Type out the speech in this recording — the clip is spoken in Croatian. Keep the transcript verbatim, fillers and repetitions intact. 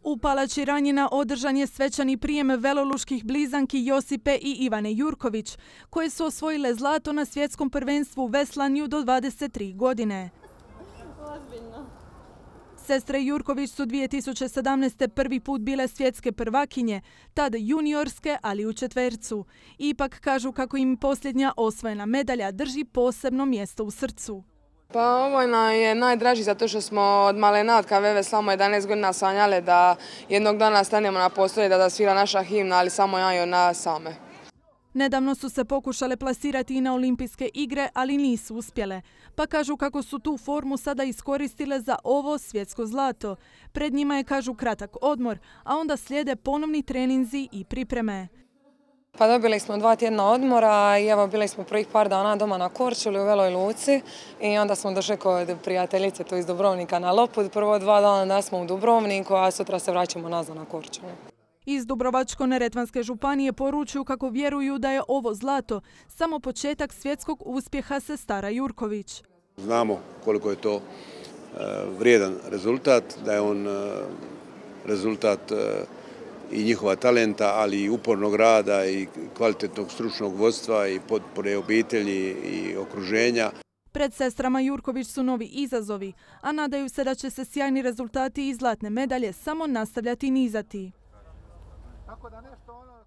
U Palači Ranjina održan je svečani prijem veloluških blizanki Josipe i Ivane Jurković, koje su osvojile zlato na svjetskom prvenstvu u veslanju do dvadeset tri godine. Sestre Jurković su dvije tisuće sedamnaeste. prvi put bile svjetske prvakinje, tad juniorske, ali u četvercu. Ipak kažu kako im posljednja osvojena medalja drži posebno mjesto u srcu. Pa ovo nam je najdraži zato što smo od malena, od kad veve samo jedanaest godina sanjale da jednog dana stanemo na postolje da da svira naša himna, ali samo ja i ona same. Nedavno su se pokušale plasirati i na olimpijske igre, ali nisu uspjele. Pa kažu kako su tu formu sada iskoristile za ovo svjetsko zlato. Pred njima je, kažu, kratak odmor, a onda slijede ponovni treninzi i pripreme. Pa dobili smo dva tjedna odmora i evo bili smo prvih par dana doma na Korčuli u Veloj Luci i onda smo došli kod prijateljice tu iz Dubrovnika na Lopud. Prvo dva dana da smo u Dubrovniku, a sutra se vraćamo nazad na Korčulu. Iz Dubrovačko-neretvanske županije poručuju kako vjeruju da je ovo zlato samo početak svjetskog uspjeha sestara Jurković. Znamo koliko je to vrijedan rezultat, da je on rezultat i njihova talenta, ali i upornog rada i kvalitetnog stručnog vodstva i potpore obitelji i okruženja. Pred sestrama Jurković su novi izazovi, a nadaju se da će se sjajni rezultati i zlatne medalje samo nastavljati nizati. Tako da nešto ono